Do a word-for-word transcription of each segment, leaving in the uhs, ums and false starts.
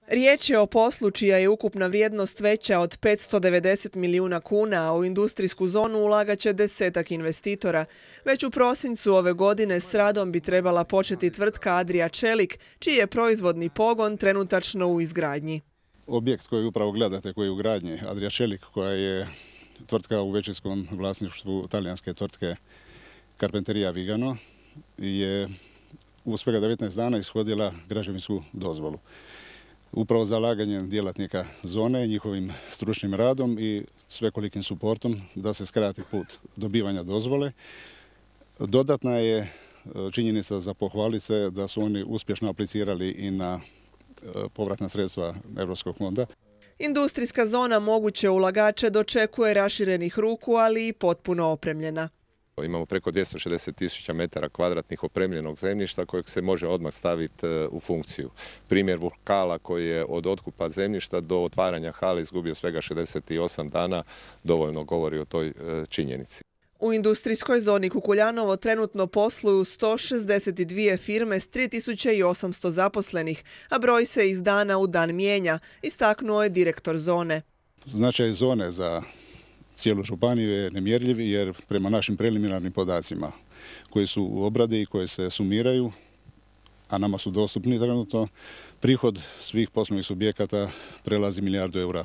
Riječ je o poslu čija je ukupna vrijednost veća od petsto devedeset milijuna kuna, a u industrijsku zonu ulagat će desetak investitora. Već u prosincu ove godine s radom bi trebala početi tvrtka Adria Čelik, čiji je proizvodni pogon trenutačno u izgradnji. Objekt koji upravo gledate, koji je u gradnji, Adria Čelik, koja je tvrtka u većinskom vlasništvu talijanske tvrtke Carpenteria Vigano, je u svega devetnaest dana ishodila građevinsku dozvolu. Upravo zalaganjem djelatnika zone, njihovim stručnim radom i svekolikim suportom da se skrati put dobivanja dozvole. Dodatna je činjenica za pohvaliti se da su oni uspješno aplicirali i na povratna sredstva Europskog fonda. Industrijska zona moguće ulagače dočekuje raširenih ruku, ali i potpuno opremljena. Imamo preko dvjesto šezdeset tisuća metara kvadratnih opremljenog zemljišta kojeg se može odmah staviti u funkciju. Primjer Vulkala koji je od otkupa zemljišta do otvaranja hale izgubio svega šezdeset osam dana dovoljno govori o toj činjenici. U industrijskoj zoni Kukuljanovo trenutno posluju sto šezdeset dvije firme s tri tisuće osamsto zaposlenih, a broj se iz dana u dan mijenja, istaknuo je direktor zone. Značaj zone za cijelu županiju je nemjerljiv jer prema našim preliminarnim podacima koji su u obradi i koji se sumiraju, a nama su dostupni trenutno, prihod svih poslovnih subjekata prelazi milijardu eura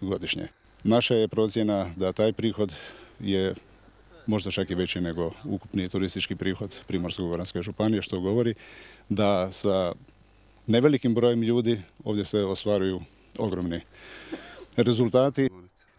godišnje. Naša je procjena da taj prihod je možda čak i veći nego ukupni turistički prihod Primorsko-goranske županije, što govori da sa nevelikim brojem ljudi ovdje se ostvaruju ogromni rezultati.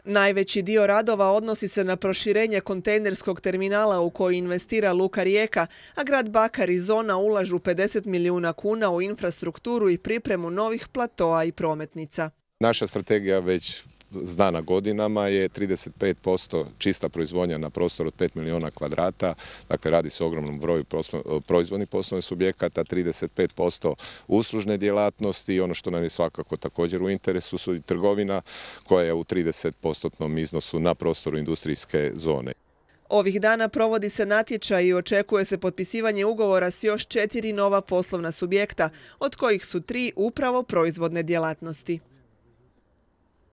Najveći dio radova odnosi se na proširenje kontejnerskog terminala u koji investira Luka Rijeka, a grad Bakar i zona ulažu pedeset milijuna kuna u infrastrukturu i pripremu novih platoa i prometnica. Naša strategija već znana godinama je trideset pet posto čista proizvodnja na prostoru od pet milijuna kvadrata, dakle radi se o ogromnom broju proizvodnih poslovnih subjekata, trideset pet posto uslužne djelatnosti i ono što nam je svakako također u interesu su i trgovina koja je u trideset postotnom iznosu na prostoru industrijske zone. Ovih dana provodi se natječaj i očekuje se potpisivanje ugovora s još četiri nova poslovna subjekta, od kojih su tri upravo proizvodne djelatnosti.